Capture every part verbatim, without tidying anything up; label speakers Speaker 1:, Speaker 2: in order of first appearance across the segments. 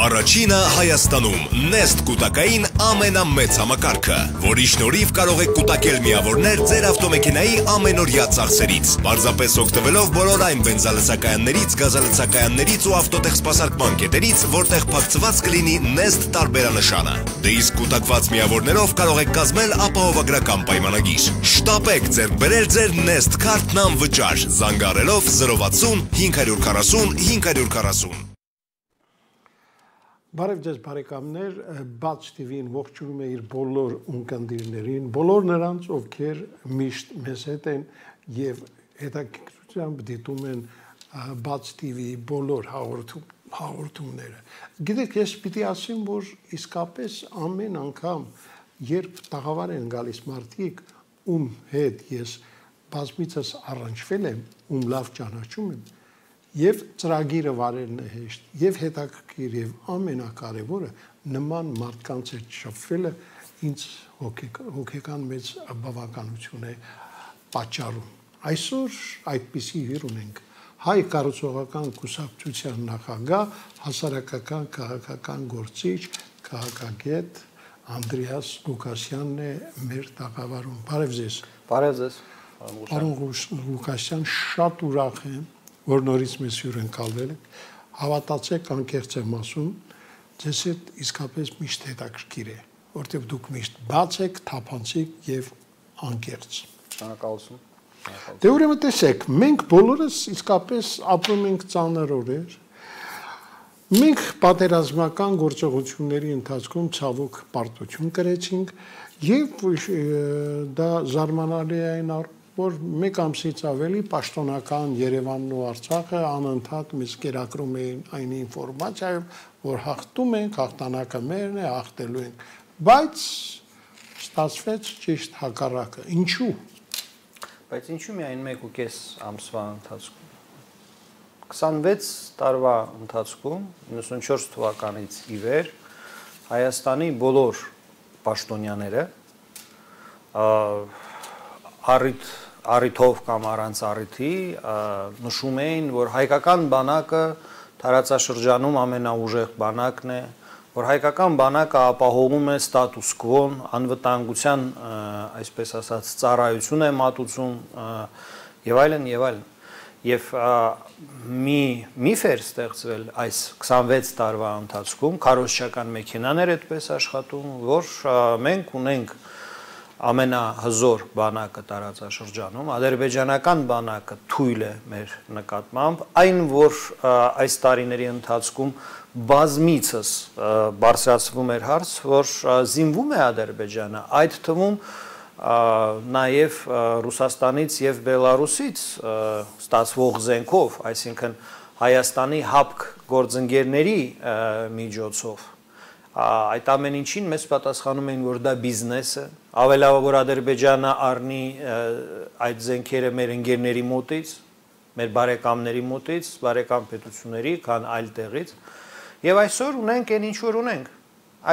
Speaker 1: Առաջինը Հայաստանում Nest կուտակային ամենամեծ համակարգը, որի շնորհիվ կարող եք կուտակել միավորներ ձեր ավտոմեքենայի ամենօրյա ծախսերից, պարզապես օգտվելով բոլոր այն բենզալցակայաններից, գազալցակայաններից ու ավտոտեխ սպասարկման կետերից, որտեղ փակցված կլինի Nest տարբերանշանը։ Դե իսկ կուտակված միավորներով կարող եք կազմել ապահովագրական պայմանագիր։ Շտապեք ձեռք բերել ձեր Nest քարտն անվճար, զանգահարելով զրո վաթսուն հինգ քսան հինգ քսան։
Speaker 2: Բարև ձեզ բարեկամներ, Բաց տիվին ողջունում է իր բոլոր ունկնդիրներին, բոլոր նրանց, ովքեր միշտ մեզ հետ են և հետաքրքրությամբ դիտում են Բաց տիվիի բոլոր հաղորդումները։ Գիտեք, ես պիտի ասեմ, որ իսկապես ամեն անգամ, երբ տաղավար են գալիս մարդիկ, ում հետ ես բազմիցս առնչվել եմ, ում լավ ճանաչում եմ, և ծրագիրը վարելն է հեշտ, և հետաքրքիր, և ամենակարևորը նման մարդկանց հետ շփվելը ինձ հոգեկան մեծ բավականություն է պատճառում։ Այսօր այդպիսի հյուր ունենք Հայ կառուցողական կուսակցության նախագահ, հասարակական քաղաքական գործիչ, քաղաքագետ Անդրեաս Ղուկասյանն է մեր տաղավարում։ Բարև ձեզ։
Speaker 3: Բարև ձեզ։
Speaker 2: Պարոն Ղուկասյան, շատ ուրախ եմ, որ նորից մեզ հյուր ընկալվել եք, հավատացեք, անկեղծ եմ ասում, ձեզ հետ իսկապես միշտ հետաքրքիր է, որտեղ դուք միշտ բաց եք, թափանցիկ և անկեղծ։
Speaker 3: Շնորհակալություն։
Speaker 2: Դե ուրեմն տեսեք, մենք բոլորս իսկապես ապրում ենք ծանր օրեր, մենք պատերազմական գործողությունների ընթացքում ցավոք պարտություն կրեցինք և դա զարմանալի է այն առ որ մեկ ամսից ավելի պաշտոնական Երևանն ու Արցախը անընդհատ մեզ կերակրում էին այն ինֆորմացիայով, որ հաղթում ենք, հաղթանակը մերն է, հաղթելու ենք, բայց ստացվեց ճիշտ հակառակը։ Ինչու՞։
Speaker 3: Բայց ինչու՞ միայն մեկ ու կես ամսվա ընթացքում։ քսանվեց տարվա ընթացքում, իննսունչորս թվականից ի վեր, Հայաստանի բոլոր պաշտոնյաները առիթ առիթով կամ առանց առիթի նշում էին, որ հայկական բանակը տարածաշրջանում ամենաուժեղ բանակն է, որ հայկական բանակը ապահովում է ստատուս քվոն, անվտանգության, այսպես ասած, ծառայություն է մատուցում եւ այլն եւ այլն։ Եվ մի միֆ էր ստեղծվել այս քսանվեց տարվա ընթացքում, քարոզչական մեքենաներ այդպես աշխատում, որ մենք ունենք ամենահզոր բանակը տարածաշրջանում, ադրբեջանական բանակը թույլ է մեր նկատմամբ, այն որ այս տարիների ընթացքում բազմիցս բարձրացվում էր հարց, որ զինվում է Ադրբեջանը, այդ թվում նաև Ռուսաստանից և Բելարուսից ստացվող զենքով, այսինքն Հայաստանի հապկ գործընկերների միջոցով, այդ ամեն ինչին մեզ պատասխանում էին, որ դա բիզնես է, ավելավա որ Ադրբեջանը առնի այդ զենքերը մեր ընկերների մոտից, մեր բարեկամների մոտից, բարեկամ պետությունների, քան այլ տեղից, եւ այսօր ունենք այն ինչ որ ունենք։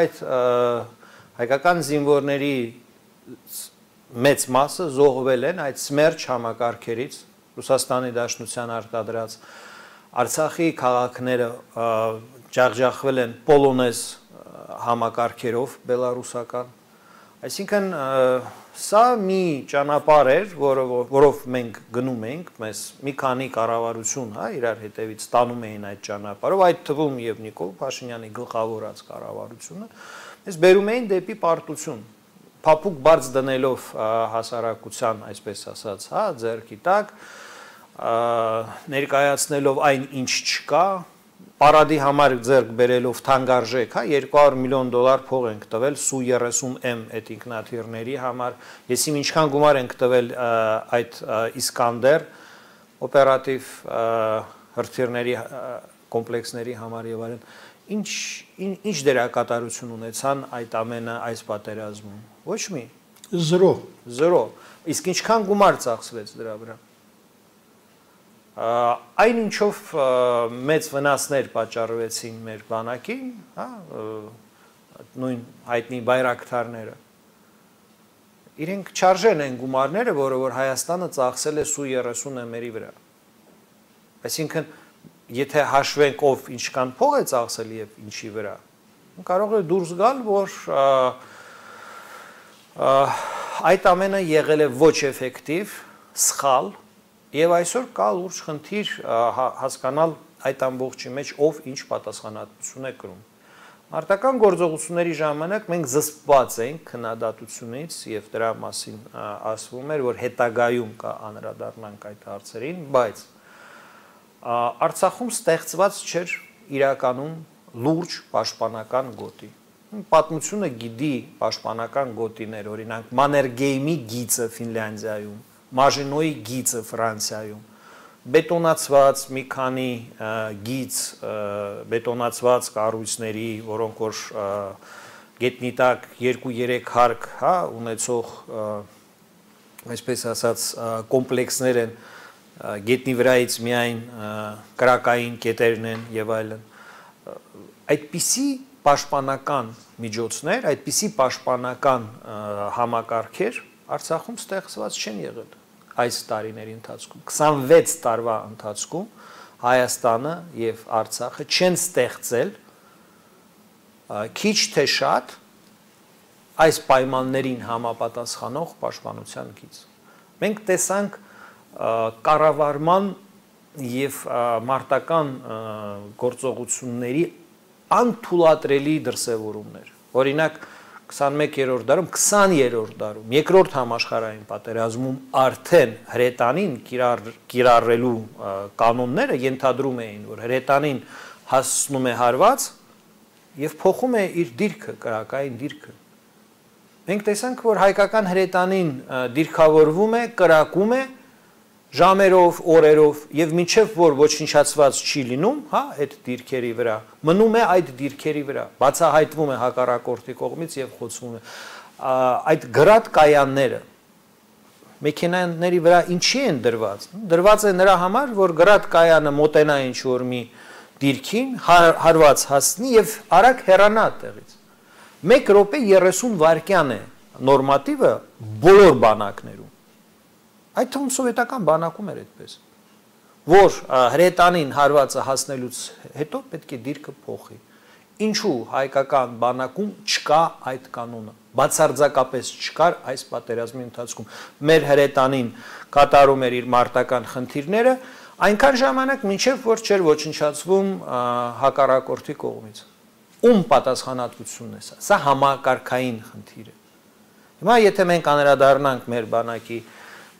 Speaker 3: Այդ հայկական զինվորների մեծ մասը զոհվել են այդ սմերջ համակարգերից, Ռուսաստանի Դաշնության արտադրած Արցախի քաղաքները ջախջախվել են պոլոնեզ համակարգերով բելարուսական, այսինքն սա մի ճանապարհ էր, որով մենք գնում ենք, մեզ մի քանի կառավարություն, հա, իրար հետևից տանում էին այդ ճանապարհով, այդ թվում եւ Նիկոլ Փաշինյանի գլխավորած կառավարությունը, մեզ բերում էին դեպի պարտություն, փափուկ բարձ դնելով հասարակության, այսպես ասած, հա, ձեռքի տակ, ներկայացնելով այն ինչ չկա, Պարադի համար ձեռք բերելով թանկարժեք, հա, երկու հարյուր միլիոն դոլար փող ենք տվել Սու երեսուն էմ այդ ինքնաթիռների համար, ես իմ ինչքան գումար ենք տվել այդ Իսկանդեր օպերատիվ հրթիռների կոմպլեքսների համար եւ այլն, ինչ ինչ դերակատարություն ունեցան այդ ամենը այս պատերազմում։ Ոչ մի։
Speaker 2: Զրո։
Speaker 3: Զրո։ Իսկ ինչքան գումար ծախսվեց դրա վրա։ Այն ինչով մեծ վնասներ պատճառվեցին մեր բանակին, հա, նույն հայտնի բայրակթարները, իրենք չարժեն են գումարները, որը որ Հայաստանը ծախսել է Սու երեսուն էմերի վրա։ Այսինքն եթե հաշվենք ով ինչքան փող է ծախսել եւ ինչի վրա, կարող է դուրս գալ, որ այդ ամենը եղել է ոչ էֆեկտիվ, սխալ եւ այսօր կա լուրջ խնդիր հասկանալ այդ ամբողջի մեջ ով ինչ պատասխանատվություն է կրում։ Մարտական գործողությունների ժամանակ մենք զսպված ենք քննադատությունից եւ դրա մասին ասվում էր, որ հետագայում կա անդրադառնանք այդ հարցերին, բայց Արցախում ստեղծված չէր իրականում լուրջ պաշտպանական գոտի։ Պատմությունը գիտի պաշտպանական գոտիներ, օրինակ Մաներգեյմի գիծը Ֆինլանդիայում, Մաժինոյի գիծը Ֆրանսիայում, բետոնացված մի քանի գիծ, բետոնացված կառույցների, որոնք որ գետնի տակ երկու-երեք հարկ, հա, ունեցող, այսպես ասած, կոմպլեքսներ են, գետնի վրայից միայն կրակային կետերն են եւ այլն։ Այդպիսի պաշտպանական միջոցներ, այդպիսի պաշտպանական համակարգեր Արցախում ստեղծված չեն եղել այս տարիների ընթացքում։ քսանվեց տարվա ընթացքում Հայաստանը եւ Արցախը չեն ստեղծել քիչ թե շատ այս պայմաններին համապատասխանող պաշտպանության գիծ։ Մենք տեսանք կառավարման եւ մարտական գործողությունների անթույլատրելի դրսևորումներ։ Օրինակ քսանմեկերորդ դարում, քսաներորդ դարում, երկրորդ համաշխարհային պատերազմում արդեն հրետանին կիրառելու կանոնները ենթադրում էին, որ հրետանին հասնում է հարված եւ փոխում է իր դիրքը, կրակային դիրքը։ Մենք տեսանք, որ հայկական հրետանին դիրքավորվում է, կրակում է ժամերով, օրերով եւ մինչեւ որ ոչնչացված չի լինում, հա, այդ դիրքերի վրա, մնում է այդ դիրքերի վրա, բացահայտվում է հակառակորդի կողմից եւ խոցվում է։ Այդ գրադ կայանները մեքենաների վրա ինչի են դրված։ Դրված է նրա համար, որ գրադ կայանը մոտենա ինչ որ մի դիրքին, հարված հասնի եւ արագ հեռանա տեղից։ մեկ րոպե երեսուն վայրկյան է նորմատիվը բոլոր բանակներում։ Այդ թվում սովետական բանակում էր այդպես, որ հրետանին հարվածը հասնելուց հետո պետք է դիրքը փոխի։ Ինչու հայկական բանակում չկա այդ կանոնը, բացարձակապես չկար այս պատերազմի ընթացքում։ Մեր հրետանին կատարում էր իր մարտական խնդիրները այնքան ժամանակ, մինչև որ չէր ոչնչացվում հակառակորդի կողմից։ Ում պատասխանատվությունն է սա։ Սա համակարգային խնդիր է։ Հիմա եթե մենք անդրադառնանք մեր բանակի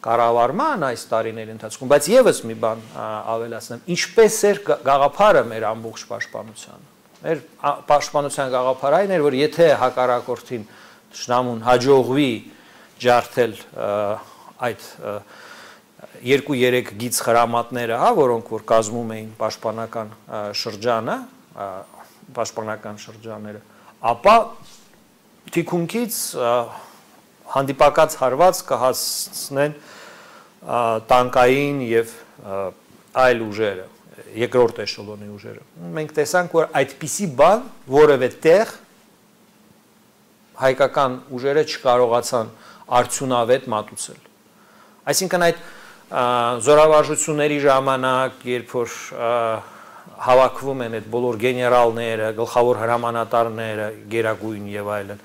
Speaker 3: կառավարման այս տարիների ընթացքում, բայց եւս մի բան ավելացնեմ, ինչպես էր գաղափարը մեր ամբողջ պաշտպանության։ Մեր պաշտպանության գաղափարը այն էր, որ եթե հակառակորդին ճշնամուն հաջողվի ջարդել այդ երկու-երեք գիծ խրամատները, հա, որոնք որ կազմում էին պաշտպանական շրջանը, պաշտպանական շրջանները, ապա թիկունքից հանդիպակաց հարված կհասնեն տանկային եւ այլ ուժերը, երկրորդ էշելոնի ուժերը։ Մենք տեսանք, որ այդպիսի բան որևէ տեղ հայկական ուժերը չկարողացան արդյունավետ մատուցել։ Այսինքն այդ զորավարժությունների ժամանակ, երբ որ հավաքվում են այդ բոլոր գեներալները, գլխավոր հրամանատարները, գերագույն եւ այլն,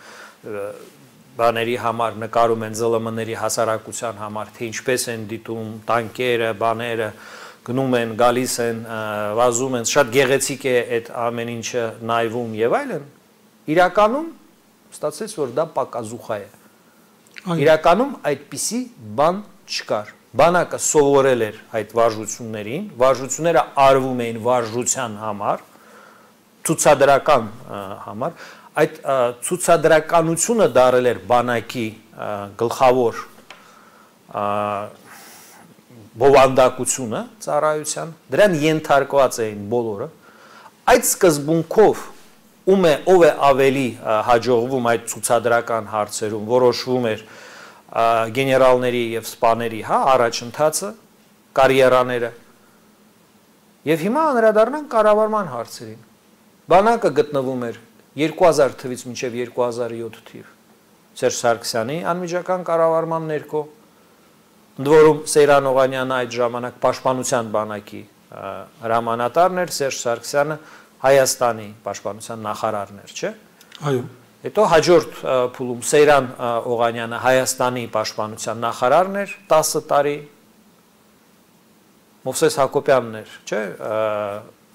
Speaker 3: բաների համար նկարում են զլ մ ների հասարակության համար, թե ինչպես են դիտում տանկերը, բաները, գնում են, գալիս են, վազում են, շատ գեղեցիկ է այդ ամեն ինչը նայվում եւ այլն, իրականում ստացվեց, որ դա պակազուխա է։ Իրականում այդպիսի բան չկար։ Բանակը սովորել էր այդ վարժություններին, վարժությունները արվում էին վարժության համար, ցուցադրական համար, այդ ցուցադրականությունը դարել էր բանակի գլխավոր բովանդակությունը ծառայության, դրան ենթարկված էին բոլորը, այդ սկզբունքով ում է ով է ավելի հաջողվում այդ ցուցադրական հարցերում, որոշվում էր գեներալների եւ սպաների, հա, առաջընթացը, կարիերաները։ Եվ հիմա անդրադառնանք կառավարման հարցերին։ Բանակը գտնվում էր երկու հազար թվականից մինչև երկու հազար յոթ թիվ Սերժ Սարգսյանի անմիջական կառավարման ներքո, ընդ որում Սեյրան Օղանյանը այդ ժամանակ պաշտպանության բանակի հրամանատարն էր, Սերժ Սարգսյանը Հայաստանի պաշտպանության նախարարն էր, չէ՞։
Speaker 2: Այո։
Speaker 3: Հետո հաջորդ փուլում Սեյրան Օղանյանը Հայաստանի պաշտպանության նախարարն էր տասը տարի, Մովսես Հակոբյանն էր, չէ՞։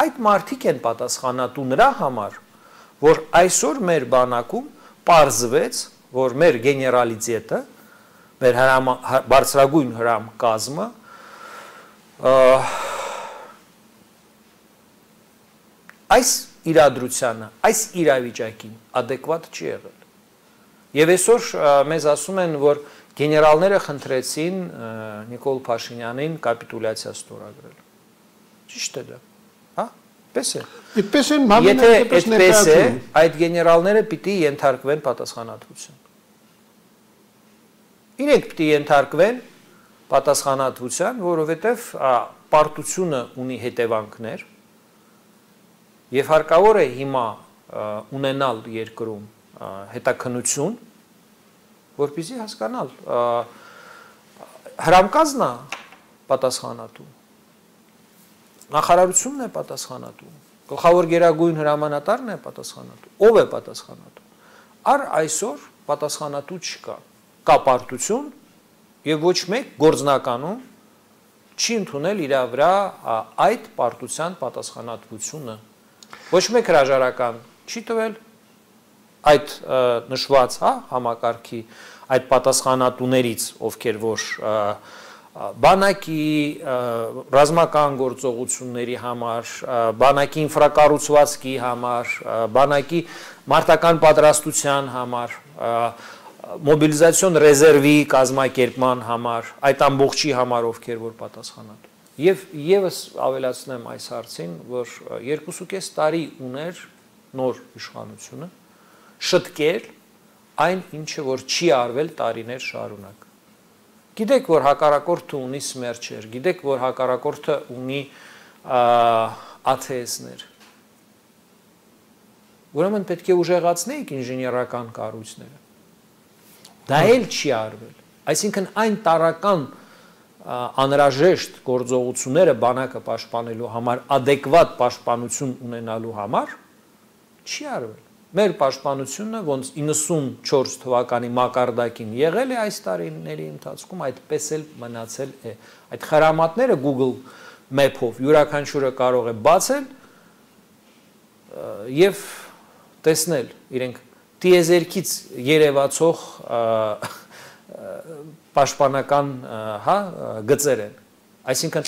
Speaker 3: Այդ մարդիկ են պատասխանատու նրա համար, որ այսօր մեր բանակում պարզվեց, որ մեր գեներալիտետը, մեր բարձրագույն հրամ կազմը այս իրադրությանը, այս իրավիճակին ադեկվատ չի եղել։ Եվ այսօր մեզ ասում են, որ գեներալները խնդրեցին Նիկոլ Փաշինյանին կապիտուլյացիա ստորագրել։ Ճիշտ է դա, հա՞։ Պես է։
Speaker 2: Այդպես են
Speaker 3: Եթե այդպես է, այդ գեներալները պիտի ենթարկվեն պատասխանատվություն։ Իրենք պիտի ենթարկվեն պատասխանատվության, որովհետև պարտությունը ունի հետևանքներ, եւ հարկավոր է հիմա ունենալ երկրում հետաքննություն, որպեսզի հասկանալ հրամկազն է պատասխանատու, նախարարությունն է պատասխանատու, գլխավոր գերագույն հրամանատարն է պատասխանատու, ով է պատասխանատու։ Առ այսօր պատասխանատու չկա, կա պարտություն եւ ոչ մեկ գործնականում չի ընդունել իր վրա այդ պարտության պատասխանատվությունը։ Ոչ մեկ հրաժարական չի տվել այդ նշված, հա, համակարգի այդ պատասխանատուներից, ովքեր որ բանակի ռազմական գործողությունների համար, բանակի ինֆրակառուցվածքի համար, բանակի մարտական պատրաստության համար, մոբիլիզացիոն ռեզերվի կազմակերպման համար, այդ ամբողջի համար, ովքեր որ պատասխանատու։ Եվ եւս ավելացնեմ այս հարցին, որ երկուսուկես տարի ուներ նոր իշխանությունը շտկել այն ինչը որ չի արվել տարիներ շարունակ։ Գիտեք, որ հակառակորդը ունի սմերչեր, գիտեք, որ հակառակորդը ունի աթեստներ։ Ուրեմն պետք է ուժեղացնեիք ինժեներական կառույցները։ Դա էլ չի արվել։ Այսինքն այն տարական անհրաժեշտ գործողությունները բանակը պաշտպանելու համար, ադեկվատ պաշտպանություն ունենալու համար չի արվել։ Մեր պաշտպանությունը ոնց իննսունչորս թվականի մակարդակին եղել է այս տարիների ընթացքում, այդպես էլ մնացել է։ Այդ խրամատները Google Map-ով յուրաքանչյուրը կարող է բացել եւ տեսնել իրենք տիեզերքից երևացող պաշտպանական, հա, գծեր են։ Այսինքն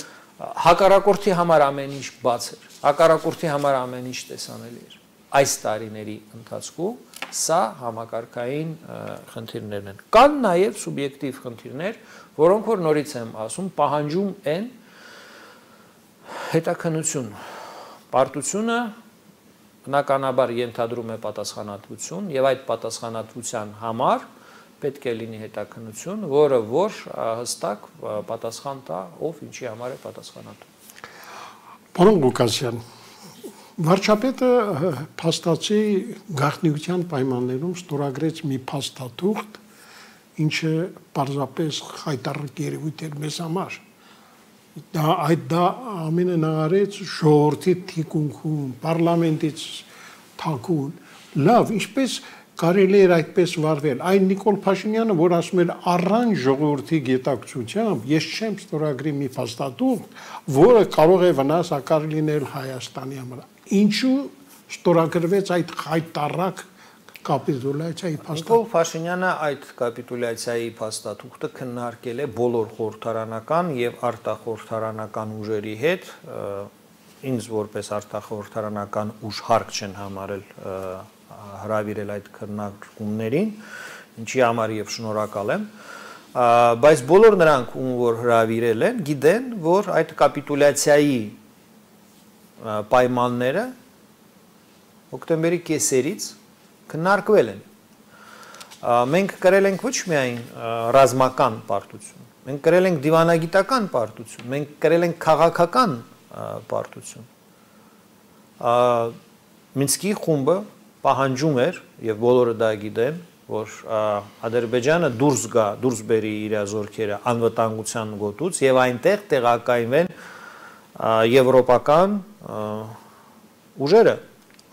Speaker 3: հակառակորդի համար ամեն ինչ բաց էր, հակառակորդի համար ամեն ինչ տեսանելի էր։ Այս տարիների ընթացքում սա համակարգային խնդիրներն են։ Կան նաև սուբյեկտիվ խնդիրներ, որոնք որ նորից եմ ասում, պահանջում են հետաքննություն։ Պարտությունը բնականաբար ենթադրում է պատասխանատվություն եւ այդ պատասխանատվության համար պետք է լինի հետաքննություն, որը որ հստակ պատասխան տա, ով ինչի համար է պատասխանատու։
Speaker 2: Պարոն Ղուկասյան, վարչապետը փաստացի գաղտնիության պայմաններում ստորագրեց մի փաստաթուղթ, ինչը պարզապես խայտառակ երևույթ էր մեզ համար։ Դա այդ դա ամենը նարեց ժողովրդի թիկունքում, պարլամենտից թաքուն։ Լավ, ինչպես կարելի էր այդպես վարվել։ Այն Նիկոլ Փաշինյանը, որ ասում էր առանց ժողովրդի գիտակցությամբ, ես չեմ ստորագրի մի փաստաթուղթ, որը կարող է վնասակար լինել Հայաստանի համար։ Ինչու ստորագրվեց այդ խայտառակ կապիտուլյացիայի փաստաթուղթը։
Speaker 3: Նիկոլ Փաշինյանը այդ կապիտուլյացիայի փաստաթուղթը քննարկել է բոլոր խորհրդարանական եւ արտախորհրդարանական ուժերի հետ, ինձ որպես արտախորհրդարանական ուժ հարկ չեն համարել հրավիրել այդ քննարկումներին, ինչի համար եւ շնորհակալ եմ, բայց բոլոր նրանք, ում որ հրավիրել են, գիտեն, որ այդ կապիտուլյացիայի պայմանները հոկտեմբերի կեսերից քննարկվել են։ Մենք կրել ենք ոչ միայն ռազմական պարտություն, մենք կրել ենք դիվանագիտական պարտություն, մենք կրել ենք քաղաքական պարտություն։ Մինսկի խումբը պահանջում էր, եւ բոլորը դա գիտեն, որ Ադրբեջանը դուրս գա, դուրս բերի իր զորքերը անվտանգության գոտուց եւ այնտեղ տեղակայվեն եվրոպական ուժերը։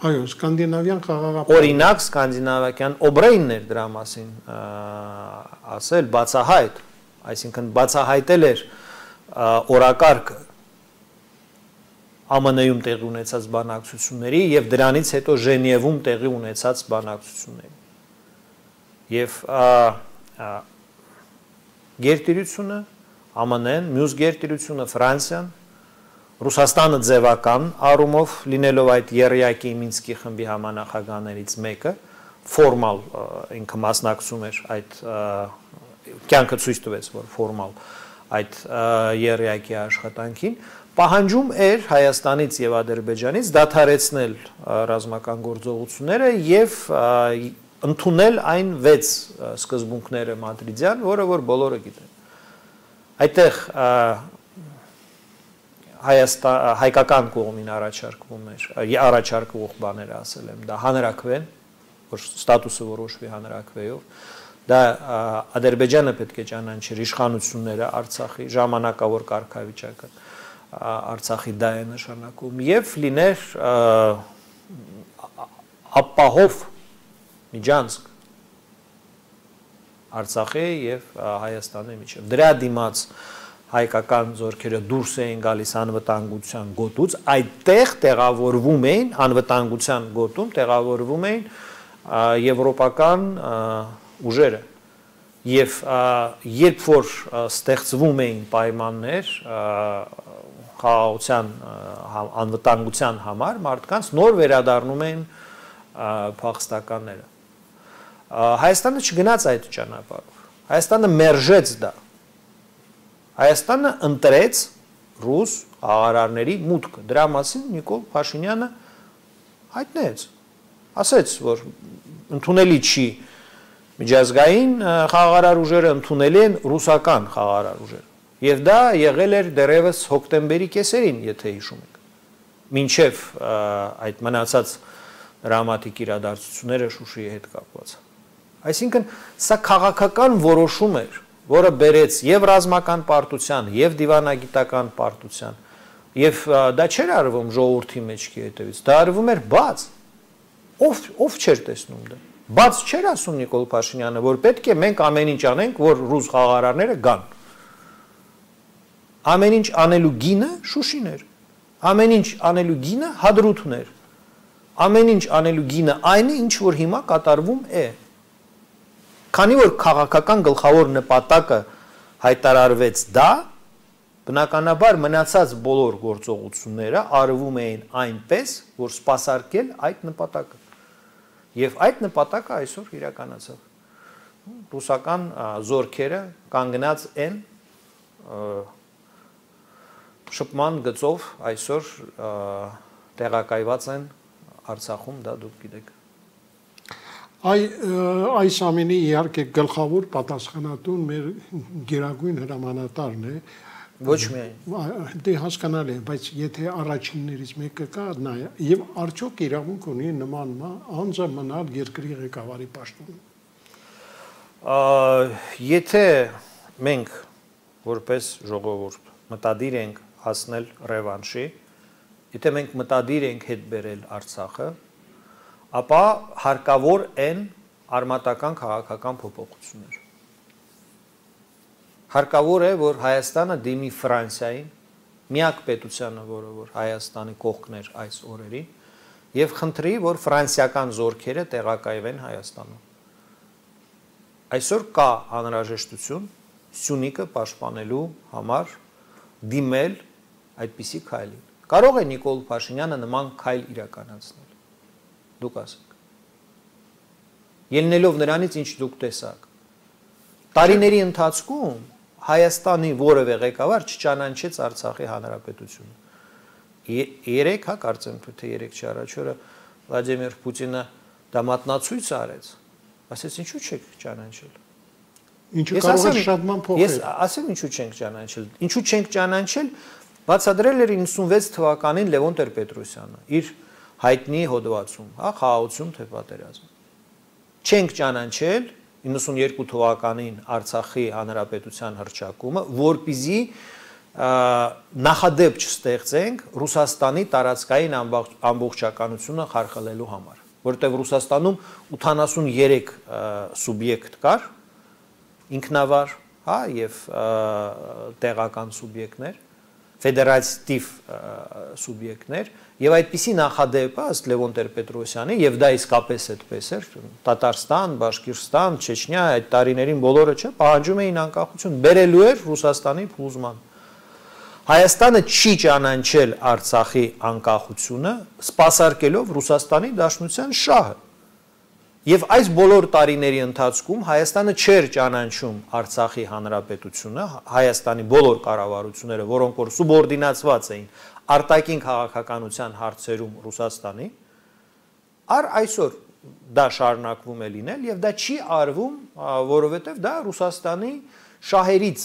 Speaker 2: Այո, սկանդինավյան խաղաղապահ։
Speaker 3: Օրինակ սկանդինավյան Օբրեյնն էր դրա մասին ասել բացահայտ, այսինքն բացահայտել էր օրակարգը Ամն Ում տեղի ունեցած բանակցությունների եւ դրանից հետո Ժենևում տեղի ունեցած բանակցությունների։ Եվ գերտիրությունը ԱՄՆ-ն, մյուս գերտիրությունը Ֆրանսիան, Ռուսաստանը ձևական առումով լինելով այդ եռյակի Մինսկի խմբի համանախագահներից մեկը, ֆորմալ ինքը մասնակցում էր այդ կյանքը ցույց տվեց, որ ֆորմալ այդ եռյակի աշխատանքին, պահանջում էր Հայաստանից եւ Ադրբեջանից դադարեցնել ռազմական գործողությունները եւ ընդունել այն վեց սկզբունքները մադրիդյան, որը որ բոլորը գիտեն։ Այդտեղ Հայաստան հայկական կողմին առաջարկվում էր, առաջարկվող բաները ասել եմ, դա հանրաքվեն, որ ստատուսը որոշվի հանրաքվեով, դա Ադրբեջանը պետք է ճանաչի իշխանությունները Արցախի ժամանակավոր կարգավիճակը Արցախի դա է նշանակում եւ լիներ ապահով միջանցք Արցախի եւ Հայաստանի միջեւ։ Դրա դիմաց հայկական զորքերը դուրս էին գալիս անվտանգության գոտուց, այդտեղ տեղավորվում էին անվտանգության գոտում տեղավորվում էին եվրոպական ուժերը եւ երբ որ ստեղծվում էին պայմաններ խաղաղության անվտանգության համար մարդկանց նոր վերադառնում էին փախստականները։ Հայաստանը չգնաց այդ ճանապարհով։ Հայաստանը մերժեց դա։ Հայաստանը ընտրեց ռուս աղարարների մուտքը։ Դրա մասին Նիկոլ Փաշինյանը հայտնեց, ասեց, որ ընդունելի չի միջազգային խաղաղարար ուժերը, ընդունելի են ռուսական խաղաղարար ուժերը։ Եվ դա եղել էր դեռևս հոկտեմբերի կեսերին, եթե հիշում եք, մինչև այդ մնացած դրամատիկ իրադարձությունները Շուշիի հետ կապված։ Այսինքն, սա քաղաքական որոշում էր, որը բերեց եւ ռազմական պարտության, եւ դիվանագիտական պարտության, եւ դա չէր արվում ժողովրդի մեջքի հետևից, դա արվում էր բաց։ Ով ով չէր տեսնում դա։ Բաց չէր ասում Նիկոլ Փաշինյանը, որ պետք է մենք ամեն ինչ անենք, որ ռուս խաղաղարարները գան։ Ամեն ինչ անելու գինը Շուշին էր։ Ամեն ինչ անելու գինը Հադրութն էր։ Ամեն ինչ անելու գինը այն է, ինչ որ հիմա կատարվում է։ Քանի որ քաղաքական գլխավոր նպատակը հայտարարվեց դա, բնականաբար մնացած բոլոր գործողությունները արվում էին այնպես, որ սպասարկել այդ նպատակը։ Եվ այդ նպատակը այսօր իրականացավ։ Ռուսական զորքերը կանգնած են շփման գծով այսօր տեղակայված են Արցախում, դա դուք գիտեք։
Speaker 2: Այ այս ամենի իհարկե գլխավոր պատասխանատուն մեր գերագույն հրամանատարն է։
Speaker 3: Ոչ միայն։
Speaker 2: Դե հասկանալի է, բայց եթե առաջիններից մեկը կա նա եւ արդյոք իրավունք ունի նման անձը մնալ երկրի ղեկավարի պաշտոնում։
Speaker 3: Եթե մենք որպես ժողովուրդ մտադիր ենք հասնել ռևանշի, եթե մենք մտադիր ենք հետ բերել Արցախը, ապա հարկավոր են արմատական քաղաքական փոփոխություններ։ Հարկավոր է, որ Հայաստանը դիմի Ֆրանսիային, միակ պետությանը, որը որ Հայաստանի կողքն էր այս օրերին, եւ խնդրի, որ ֆրանսիական զորքերը տեղակայվեն Հայաստանում։ Այսօր կա անհրաժեշտություն Սյունիքը պաշտպանելու համար դիմել այդպիսի քայլին։ Կարող է Նիկոլ Փաշինյանը նման քայլ իրականացնել։ Դուք ասեք։ Ելնելով նրանից, ինչ դուք տեսաք։ Տարիների ընթացքում Հայաստանի որևէ ղեկավար չճանաչեց Արցախի հանրապետությունը։ Երեք, հա, կարծեմ, թե երեք չի առաջ օրը Վլադիմիր Պուտինը դա մատնացույց արեց։ Ասեց, ինչու չեք ճանաչել։
Speaker 2: Ինչու կարող է շատ ման փոխել։
Speaker 3: Ես ասեմ, ինչու չենք ճանաչել։ Ինչու չենք ճանաչել, բացադրել էր իննսունվեց թվականին Լևոն Տեր-Պետրոսյանը իր հայտնի հոդվածում, հա, խաղաղություն թե պատերազմ։ Չենք ճանաչել իննսունյերկու թվականին Արցախի հանրապետության հռչակումը, որպեսզի նախադեպ չստեղծենք Ռուսաստանի տարածքային ամբողջականությունը խարխլելու համար, որովհետև Ռուսաստանում ութանասուններեք սուբյեկտ կար, ինքնավար, հա, եւ տեղական սուբյեկտներ, ֆեդերատիվ սուբյեկտներ, եւ այդպիսի նախադեպը ըստ Լևոն Տեր-Պետրոսյանի, եւ դա իսկապես այդպես էր, Տատարստան, Բաշկիրստան, Չեչնիա, այդ տարիներին բոլորը չէ, պահանջում էին անկախություն, բերելու էր Ռուսաստանի փլուզման։ Հայաստանը չի ճանաչել Արցախի անկախությունը, սպասարկելով Ռուսաստանի Դաշնության շահը։ Եվ այս բոլոր տարիների ընթացքում Հայաստանը չէր ճանաչում Արցախի հանրապետությունը, Հայաստանի բոլոր կառավարությունները, որոնք որ սուբորդինացված էին արտաքին քաղաքականության հարցերում Ռուսաստանի, առ այսօր դա շարունակվում է լինել եւ դա չի արվում, որովհետեւ դա Ռուսաստանի շահերից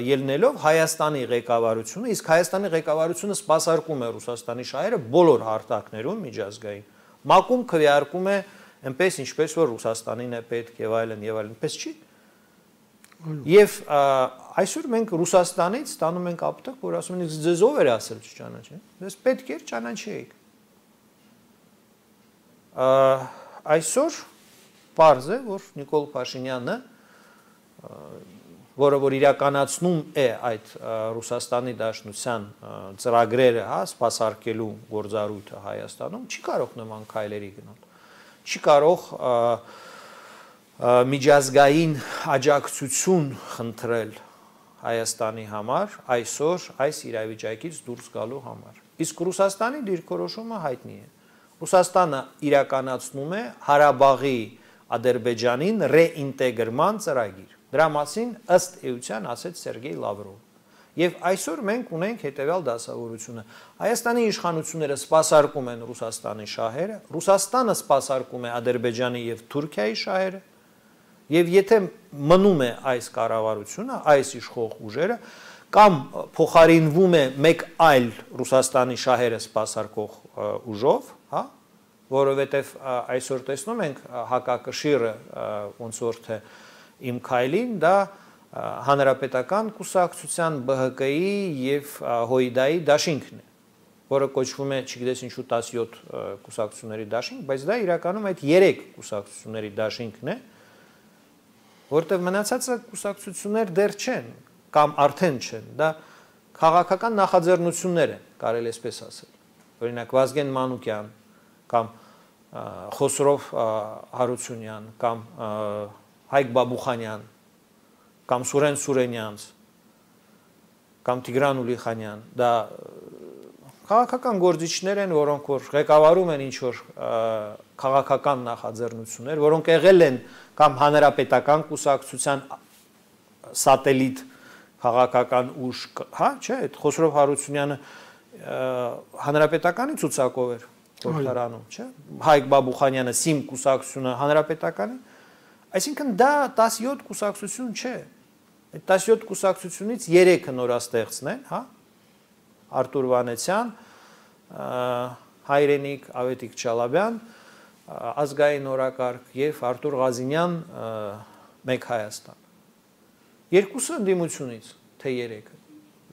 Speaker 3: ելնելով Հայաստանի ղեկավարությունը, իսկ Հայաստանի ղեկավարությունը սպասարկում է Ռուսաստանի շահերը բոլոր հարթակներում միջազգային։ Մակում քվեարկում է այնպես ինչպես որ Ռուսաստանին է պետք եւ այլն եւ այլն, այնպես չի։ Եվ այսօր մենք Ռուսաստանից ստանում ենք ապտակ, որ ասում են ձեզ ով էր ասել չճանաչեն։ Դες պետք էր ճանաչեիք։ Այսօր պարզ է, որ Նիկոլ Փաշինյանը, որը որ իրականացնում է այդ Ռուսաստանի Դաշնության ծրագրերը, հա, սպասարկելու գործառույթը Հայաստանում, չի կարող նման քայլերի գնալ։ Չի կարող միջազգային աջակցություն խնդրել Հայաստանի համար այսօր այս իրավիճակից դուրս գալու համար։ Իսկ Ռուսաստանի դիրքորոշումը հայտնի է։ Ռուսաստանը իրականացնում է Ղարաբաղի Ադրբեջանին ռեինտեգրման ծրագիր։ Դրա մասին ըստ էության ասեց Սերգեյ Լավրովը։ Եվ այսօր մենք ունենք հետևյալ դասավորությունը. Հայաստանի իշխանությունները սպասարկում են Ռուսաստանի շահերը, Ռուսաստանը սպասարկում է Ադրբեջանի եւ Թուրքիայի շահերը, եւ եթե մնում է այս կառավարությունը, այս իշխող ուժերը, կամ փոխարինվում է մեկ այլ Ռուսաստանի շահերը սպասարկող ուժով, հա, որովհետեւ այսօր տեսնում ենք հակակշիռը ոնց որ թե իմ քայլին, դա Հանրապետական կուսակցության B H K-ի եւ Հոյդայի դաշինքն է, որը կոչվում է, չգիտես ինչու տասնյոթ կուսակցությունների դաշինք, բայց դա իրականում այդ երեք կուսակցությունների դաշինքն է, որտեղ մնացածը կուսակցություններ դեռ չեն կամ արդեն չեն, դա քաղաքական նախաձեռնություններ են, կարելի էսպես ասել։ Օրինակ Վազգեն Մանուկյան կամ Խոսրով Հարությունյան կամ Հայկ Բաբուխանյան կամ Սուրեն Սուրենյանց կամ Տիգրան Ուլիխանյան, դա քաղաքական գործիչներ են, որոնք որ ղեկավարում են ինչ-որ քաղաքական նախաձեռնություններ, որոնք եղել են կամ հանրապետական կուսակցության սատելիտ քաղաքական ուժ, հա, չէ, այդ Խոսրով Հարությունյանը հանրապետականի ցուցակով էր Թորթարանում, չէ, Հայկ Բաբուխանյանը Սիմ կուսակցությունը հանրապետականի, այսինքն դա տասնյոթ կուսակցություն չէ, այդ տասնյոթ կուսակցությունից երեքը նորաստեղծն են, հա, Արտուր Վանեցյան, Հայրենիք, Ավետիք Չալաբյան, Ազգային օրակարգ եւ Արտուր Ղազինյան, Մեկ Հայաստան։ Երկուսը ընդդիմությունից, թե երեքը։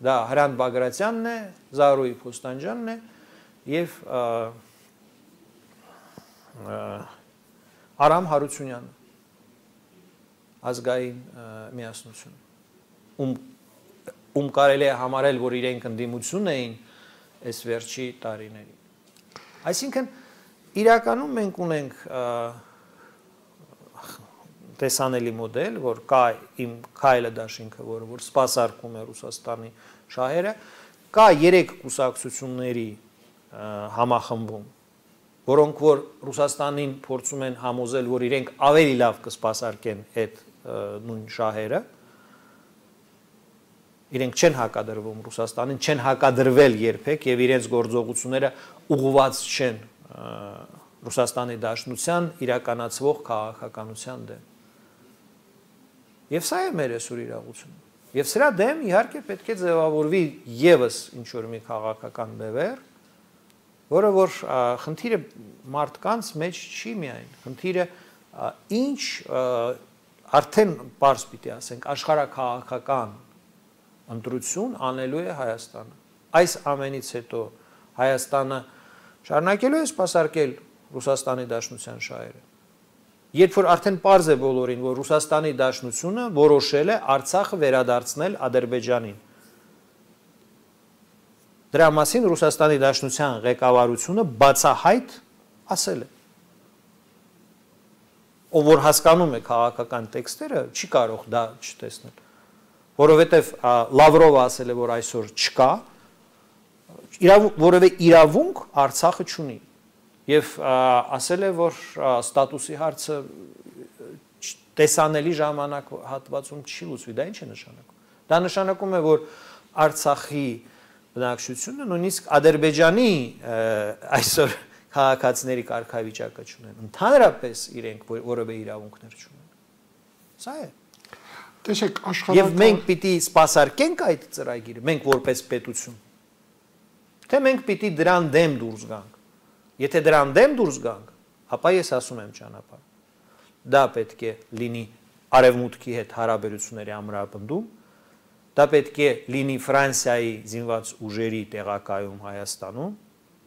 Speaker 3: Դա Հրանտ Բագրատյանն է, Զարուհի Փոստանջյանն է եւ Արամ Հարությունյանը, Ազգային միասնություն, ում ում կարելի է համարել, որ իրենք ընդդիմություն էին այս վերջի տարիներին։ Այսինքն իրականում մենք ունենք տեսանելի մոդել, որ կա իմ քայլը դաշինքը, որը որ սպասարկում է Ռուսաստանի շահերը, կա երեք կուսակցությունների համախմբում, որոնք որ Ռուսաստանին փորձում են համոզել, որ իրենք ավելի լավ կսպասարկեն այդ նույն շահերը, իրենք չեն հակադրվում Ռուսաստանին, չեն հակադրվել երբեք եւ իրենց գործողությունները ուղղված չեն Ռուսաստանի Դաշնության իրականացվող քաղաքականության դեմ։ Եվ սա է մեր այսօր իրողությունը։ Եվ սրա դեմ իհարկե պետք է ձևավորվի եւս ինչ որ մի քաղաքական բևեռ, որը որ խնդիրը մարդկանց մեջ չի միայն, խնդիրը ինչ արդեն բարձ պիտի ասենք աշխարհաքաղաքական ընտրություն անելու է Հայաստանը։ Այս ամենից հետո Հայաստանը շարունակելու է սպասարկել Ռուսաստանի Դաշնության շահերը։ Երբ որ արդեն պարզ է բոլորին, որ Ռուսաստանի Դաշնությունը որոշել է Արցախը վերադարձնել Ադրբեջանին։ Դրա մասին Ռուսաստանի Դաշնության ղեկավարությունը բացահայտ ասել է։ Ով որ հասկանում է քաղաքական տեքստերը, չի կարող դա չտեսնել, որովհետև Լավրովը ասել է, որ այսօր չկա, որևէ իրավունք Արցախը չունի, եւ ասել է, որ ստատուսի հարցը տեսանելի ժամանակ հատվածում չի լուծվի, դա ինչ է նշանակում։ Դա նշանակում է, որ Արցախի բնակչությունը նույնիսկ Ադրբեջանի այսօր քաղաքացիների կարգավիճակը չունեն, ընդհանրապես իրենք որևէ իրավունքներ չունեն։ Սա է։
Speaker 2: Տեսեք, աշխարհը
Speaker 3: Եվ մենք պիտի սպասարկենք այդ ծրագիրը, մենք որպես պետություն։ Թե մենք պիտի դրան դեմ դուրս գանք։ Եթե դրան դեմ դուրս գանք, ապա ես ասում եմ ճանապարհ։ Դա պետք է լինի արևմուտքի հետ հարաբերությունների ամրապնդում, դա պետք է լինի Ֆրանսիայի զինված ուժերի տեղակայում Հայաստանում,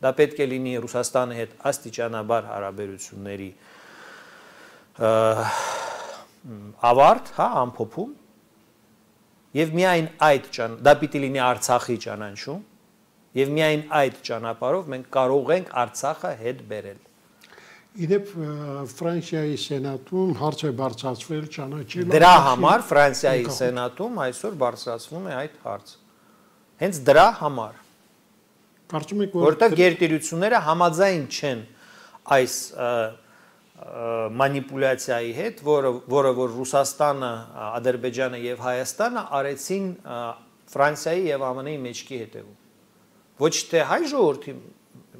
Speaker 3: դա պետք է լինի Ռուսաստանի հետ աստիճանաբար հարաբերությունների ավարտ, հա, ամփոփում, եւ միայն այդ դա պիտի լինի Արցախի ճանաչում, եւ միայն այդ ճանապարհով մենք կարող ենք Արցախը հետ բերել։
Speaker 2: Իդեպ Ֆրանսիայի սենատում հարց է բարձրացվել ճանաչելու։
Speaker 3: Դրա համար Ֆրանսիայի սենատում այսօր բարձրացվում է այդ հարցը։ Հենց դրա համար։
Speaker 2: Կարծում եք,
Speaker 3: որտեղ գերտերությունները համաձայն չեն այս մանիպուլյացիայի հետ, որը որը որ Ռուսաստանը, Ադրբեջանը եւ Հայաստանը արեցին Ֆրանսիայի եւ ԱՄՆ -ի մեջքի հետևում։ Ոչ թե հայ ժողովրդի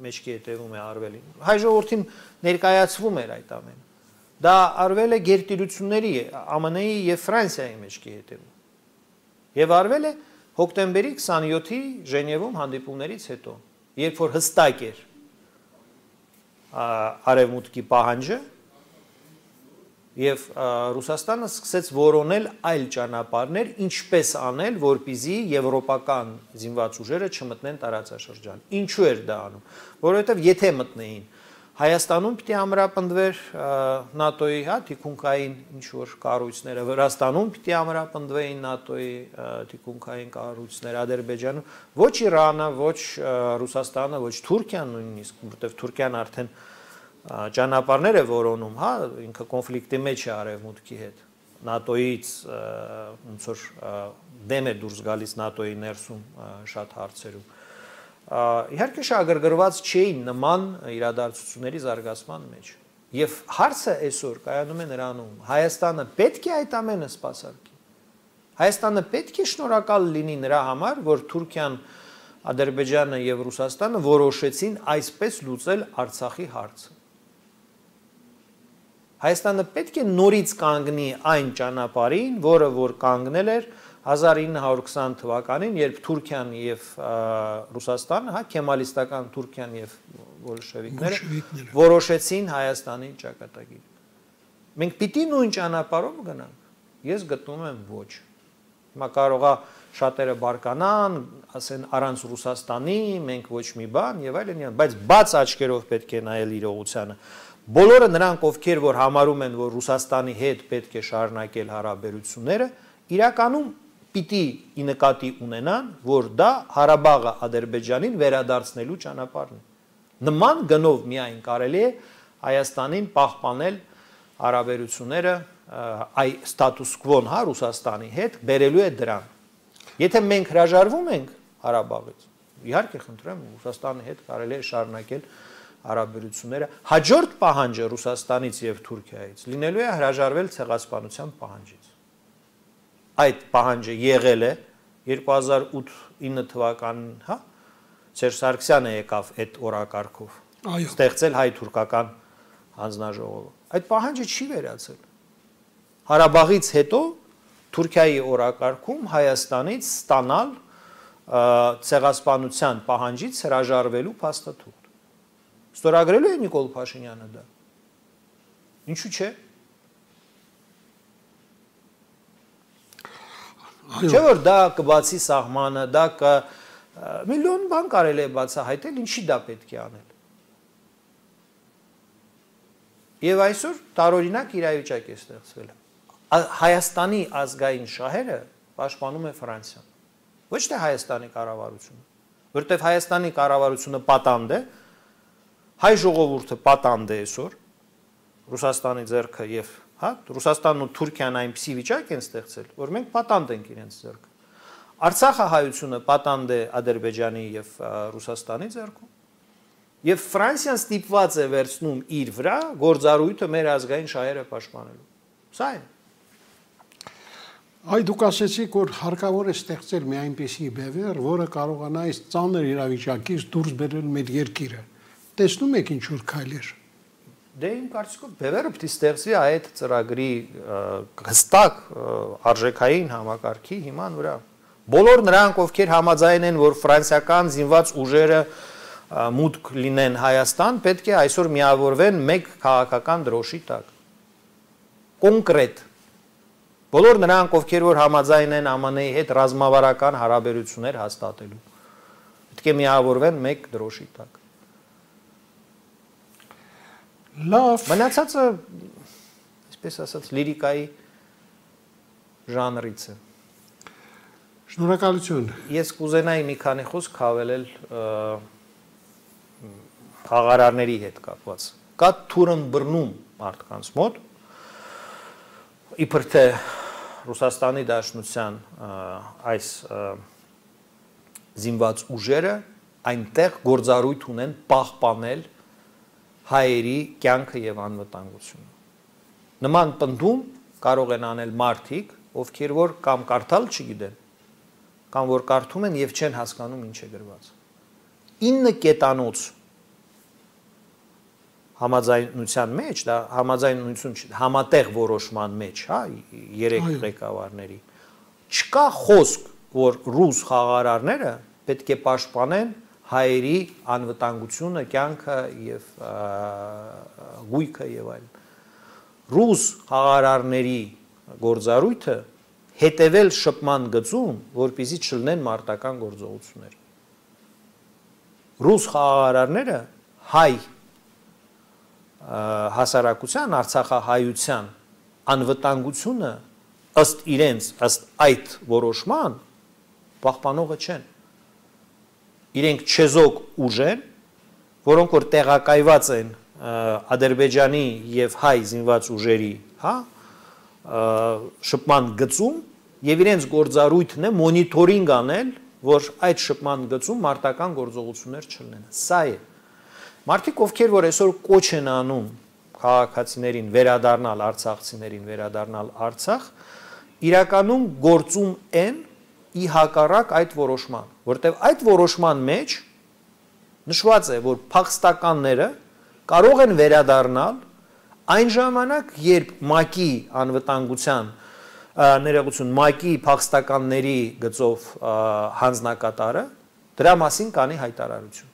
Speaker 3: մեջքի հետևում է արվել։ Հայ ժողովրդին ներկայացվում էր այդ ամենը։ Դա արվել է գերտերությունների ԱՄՆ -ի եւ Ֆրանսիայի մեջքի հետևում։ Եվ արվել է հոկտեմբերի քսանյոթի Ժենևում հանդիպումներից հետո, երբ որ հստակ էր արևմուտքի պահանջը եւ Ռուսաստանը սկսեց որոնել այլ ճանապարհներ, ինչպես անել, որպեսզի եվրոպական զինված ուժերը չմտնեն տարածաշրջան։ Ինչու էր դա անում, որովհետեւ եթե մտնեին Հայաստանում պիտի ամրապնդվեր ՆԱՏՕ-ի, հա, թիկունքային ինչ որ կառույցները, Վրաստանում պիտի ամրապնդվեին ՆԱՏՕ-ի թիկունքային կառույցները, Ադրբեջանում, ոչ Իրանը, ոչ Ռուսաստանը, ոչ Թուրքիան նույնիսկ, որտեղ Թուրքիան արդեն ճանապարհներ է որոնում, հա, ինքը կոնֆլիկտի մեջ է արևմուտքի հետ։ ՆԱՏՕ-ից ոնց որ դեմ է դուրս գալիս ՆԱՏՕ-ի ներսում շատ հարցերում։ Իհարկե շահագրգռված չէին նման իրադարձությունների զարգացման մեջ։ Եվ հարցը այսօր կայանում է նրանում, Հայաստանը պետք է այդ ամենը սպասարկի։ Հայաստանը պետք է շնորհակալ լինի նրա համար, որ Թուրքիան, Ադրբեջանը եւ Ռուսաստանը որոշեցին այսպես լուծել Արցախի հարցը։ Հայաստանը պետք է նորից կանգնի այն ճանապարհին, որը որ կանգնել էր հազար ինը հարյուր քսան թվականին, երբ Թուրքիան եւ Ռուսաստանը, հա, քեմալիստական Թուրքիան եւ բոլշևիկները որոշեցին Հայաստանի ճակատագիրը։ Մենք պիտի նույն ճանապարհով գնանք։ Ես գտնում եմ ոչ։ Հիմա կարողա շատերը բարկանան, ասեն առանց Ռուսաստանի մենք ոչ մի բան եւ այլն, բայց բաց աչքերով պետք է նայել իրողությանը։ Բոլորը նրանք, ովքեր որ համարում են, որ Ռուսաստանի հետ պետք է շարունակել հարաբերությունները, իրականում պիտի ի նկատի ունենան, որ դա Ղարաբաղը Ադրբեջանին վերադարձնելու ճանապարհն է։ Նման գնով միայն կարելի է Հայաստանին պահպանել հարաբերությունները այ ստատուս կվոն, հա, Ռուսաստանի հետ բերելու է դրան։ Եթե մենք հրաժարվում ենք Ղարաբաղից, իհարկե խնդրեմ, Ռուսաստանի հետ կարելի է շարունակել հարաբերությունները։ Հաջորդ պահանջը Ռուսաստանից եւ Թուրքիայից լինելու է հրաժարվել ցեղասպանության պահանջից։ Այդ պահանջը եղել է երկու հազար ութ ինը թվականին, հա, Սերժ Սարգսյանը եկավ այդ օրակարգով։ Ստեղծել հայ-թուրքական հանձնաժողովը։ Այդ պահանջը չի վերացել։ Ղարաբաղից հետո Թուրքիայի օրակարգում Հայաստանից ստանալ ցեղասպանության պահանջից հրաժարվելու փաստաթուղթ։ Ստորագրելու է Նիկոլ Փաշինյանը դա։ Ինչու՞ չէ։ Չէ՞ որ դա կբացի սահմանը, դա կը միլիոն բան կարելի է բացահայտել, ինչի դա պետք է անել։ Եվ այսօր տարօրինակ իրավիճակ է ստեղծվել։ Հայաստանի ազգային շահերը պաշտպանում է Ֆրանսիան։ Ոչ թե Հայաստանի կառավարությունը, որտեղ Հայաստանի կառավարությունը պատանդ է, հայ ժողովուրդը պատանդ է այսօր, Ռուսաստանի ձեռքը եւ, հա, Ռուսաստանն ու Թուրքիան այնպիսի վիճակ են ստեղծել, որ մենք պատանդ ենք իրենց ձեռքը։ Արցախը հայությունը պատանդ է Ադրբեջանի եւ Ռուսաստանի ձեռքում։ Եվ Ֆրանսիան ստիպված է վերցնում իր վրա գործառույթը մեր ազգային շահերը պաշտպանելու։ Սա է։
Speaker 2: Այ դուք ասեցիք, որ հարկավոր է ստեղծել մի այնպիսի բևեռ, որը կարողանա այս ծանր իրավիճակից դուրս բերել մեր երկիրը։ Տեսնում եք ինչ որ քայլեր։
Speaker 3: Դե իմ կարծիքով բևեռը պետք է ստեղծվի այդ ծրագրի հստակ արժեքային համակարգի հիման վրա։ Բոլոր նրանք, ովքեր համաձայն են, որ ֆրանսիական զինված ուժերը մուտք լինեն Հայաստան, պետք է այսօր միավորվեն մեկ քաղաքական դրոշի տակ։ Կոնկրետ։ Բոլոր նրանք, ովքեր որ համաձայն են ԱՄՆ -ի հետ ռազմավարական հարաբերություններ հաստատելու, պետք է միավորվեն մեկ դրոշի տակ։
Speaker 2: Լավ։
Speaker 3: Մնացածը, այսպես ասած, լիրիկայի ժանրից է։
Speaker 2: Շնորհակալություն։
Speaker 3: Ես կուզենայի մի քանի խոսք հավելել խաղարարների հետ կապված։ Կա թուրըմբռնում մարդկանց մոտ, իբր թե Ռուսաստանի Դաշնության այս զինված ուժերը այնտեղ գործառույթ ունեն պահպանել հայերի կյանքը եւ անվտանգությունը։ Նման պնդում կարող են անել մարդիկ, ովքեր որ կամ կարդալ չգիտեն, կամ որ կարդում են եւ չեն հասկանում ինչ է գրված։ ինը կետանոց համաձայնության մեջ, դա համաձայնություն չի, համատեղ որոշման մեջ, հա, երեք ղեկավարների, չկա խոսք, որ ռուս խաղարարները պետք է պաշտպանեն հայերի անվտանգությունը, կյանքը եւ գույքը եւ այլն։ Ռուս խաղարարների գործառույթը հետևել շփման գծում, որպեսզի չլինեն մարտական գործողություններ։ Ռուս խաղարարները հայ հասարակության, արցախահայության անվտանգությունը ըստ իրենց, ըստ այդ որոշման պահպանողը չեն։ Իրենք չեզոք ուժ են, որոնք որ տեղակայված են Ադրբեջանի եւ հայ զինված ուժերի, հա, շփման գծում եւ իրենց գործառույթն է մոնիտորինգ անել, որ այդ շփման գծում մարտական գործողություններ չլինեն։ Սա է։ Մարդիկ, ովքեր որ այսօր կոչ են անում քաղաքացիներին վերադառնալ, արցախցիներին վերադառնալ Արցախ, իրականում գործում են ի հակառակ այդ որոշման, որտեղ այդ որոշման մեջ նշված է, որ փախստականները կարող են վերադառնալ այն ժամանակ, երբ ՄԱԿ-ի անվտանգության ներողություն, ՄԱԿ-ի փախստականների գծով հանձնակատարը դրա մասին կանի հայտարարություն։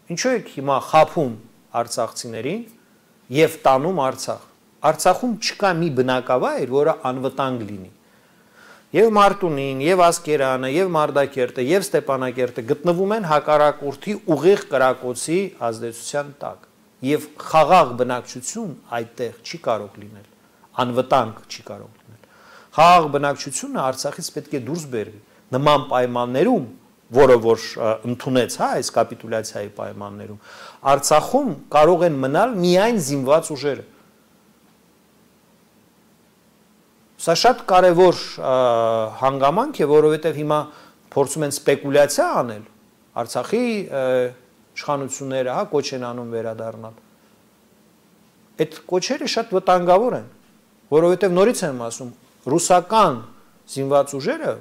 Speaker 3: Ինչու եք հիմա խափում արցախցիներին եւ տանում Արցախ։ Արցախում չկա մի բնակավայր, որը անվտանգ լինի։ Եվ Մարտունին, եւ Ասկերանը, եւ Մարդակերտը, եւ Ստեփանակերտը գտնվում են հակառակորդի ուղիղ կրակոցի ազդեցության տակ։ Եվ խաղաղ բնակչություն այդտեղ չի կարող լինել, անվտանգ չի կարող լինել։ Խաղաղ բնակչությունը Արցախից պետք է դուրս բերվի նման պայմաններում, որը որ ընդունեց, հա, այս կապիտուլյացիայի պայմաններում, Արցախում կարող են մնալ միայն զինված ուժերը։ Սա շատ կարևոր հանգամանք է, որովհետև հիմա փորձում են սպեկուլյացիա անել, Արցախի իշխանությունները, հա, կոչ են անում վերադառնալ։ Այդ կոչերը շատ վտանգավոր են, որովհետև նորից եմ ասում, ռուսական զինված ուժերը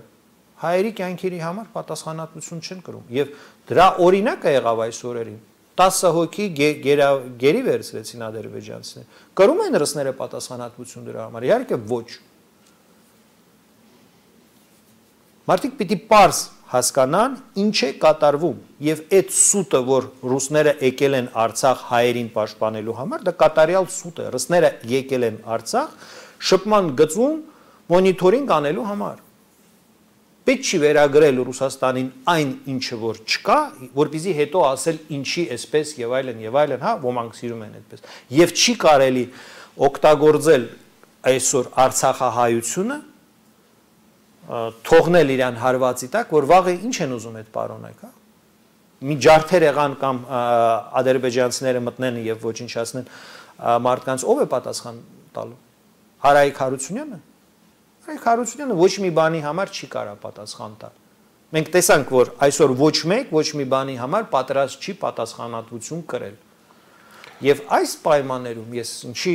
Speaker 3: հայերի կյանքերի համար պատասխանատվություն չեն կրում եւ դրա օրինակը եղավ այս օրերին տասը հոգի գերի վերցրեցին ադրբեջանցիները կրում են ռուսները պատասխանատվություն դրա համար իհարկե ոչ մարդիկ պիտի պարզ հասկանան ինչ է կատարվում եւ այդ սուտը որ ռուսները եկել են Արցախ հայերին պաշտպանելու համար դա կատարյալ սուտ է ռուսները եկել են Արցախ շփման գծում մոնիտորինգ անելու համար պետք չի վերագրել Ռուսաստանին այն ինչը որ չկա, որպեսզի հետո ասել ինչի էսպես եւ այլն եւ այլն, հա, ոմանք սիրում են այդպես։ Եվ չի կարելի օգտագործել այսօր Արցախահայությունը թողնել իրան հարվածի տակ, որ վաղը ինչ են ուզում այդ պարոնայք, հա։ Մի ջարդեր եղան կամ ադրբեջանցիները մտնեն եւ ոչնչացնեն մարդկանց, ով է պատասխան տալու։ Արայիկ Հարությունյանը։ Արայիկ Հարությունյանը ոչ մի բանի համար չի կարա պատասխան տալ։ Մենք տեսանք, որ այսօր ոչ մեկ ոչ մի բանի համար պատրաստ չի պատասխանատվություն կրել։ Եվ այս պայմաններում ես ինչի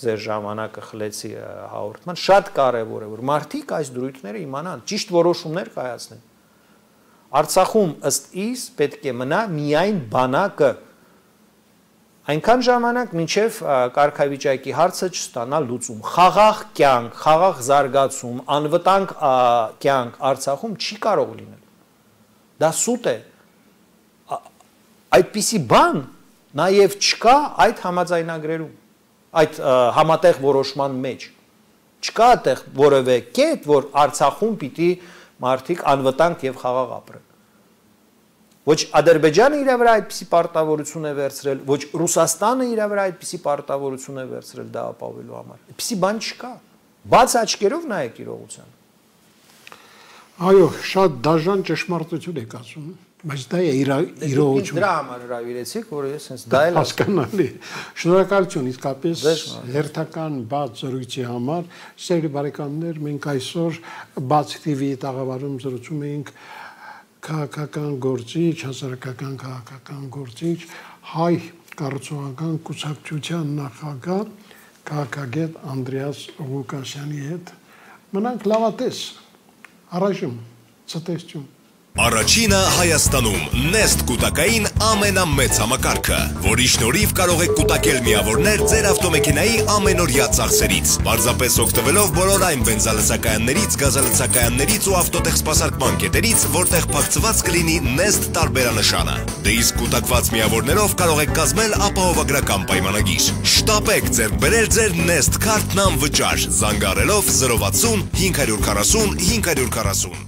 Speaker 3: ձեր ժամանակը խլեցի հաղորդման, շատ կարևոր է, որ մարդիկ այս դրույթները իմանան, ճիշտ որոշումներ կայացնեն։ Արցախում ըստ իս պետք է մնա միայն բանակը, այնքան ժամանակ մինչև կարգավիճակի հարցը չստանա լուծում։ Խաղաղ կյանք, խաղաղ զարգացում, անվտանգ կյանք Արցախում չի կարող լինել։ Դա սուտ է։ Այդպիսի բան նաև չկա այդ համաձայնագրերում, այդ համատեղ որոշման մեջ։ Չկա այդտեղ որևէ կետ, որ Արցախում պիտի մարդիկ անվտանգ եւ խաղաղ ապրեն։ Ոչ Ադրբեջանը իր վրա այդպիսի պարտավորություն է վերցրել, ոչ Ռուսաստանը իր վրա այդպիսի պարտավորություն է վերցրել դա ապահովելու համար։ Այդպիսի բան չկա։ Բաց աչքերով նայեք իրողությանը։
Speaker 2: Այո, շատ դաժան ճշմարտություն եք ասում, բայց դա է իրողություն։
Speaker 3: Դրա համար հրավիրեցիք, որ ես հենց դա էլ
Speaker 2: հասկանալի։ Շնորհակալություն իսկապես հերթական բաց զրույցի համար։ Սիրելի բարեկամներ, մենք այսօր Բաց Թի Վի տաղավարում զրուցում էինք քաղաքական գործիչ, հասարակական քաղաքական գործիչ, հայ կառուցողական կուսակցության նախագահ քաղաքագետ Անդրեաս Ղուկասյանի հետ։ Մնանք լավատես, առայժմ ցտեսություն։
Speaker 1: Առաջինը Հայաստանում Nest կուտակային ամենամեծ համակարգը, որի շնորհիվ կարող եք կուտակել միավորներ ձեր ավտոմեքենայի ամենօրյա ծախսերից, պարզապես օգտվելով բոլոր այն բենզալցակայաններից, գազալցակայաններից ու ավտոտեխսպասարկման կետերից, որտեղ փակցված կլինի Nest տարբերանշանը։ Դե իսկ կուտակված միավորներով կարող եք կազմել ապահովագրական պայմանագիր։ Շտապեք ձեռք բերել ձեր Nest քարտն անվճար, զանգահարելով զրո վաթսուն հինգ հարյուր քառասուն հինգ հարյուր քառասուն։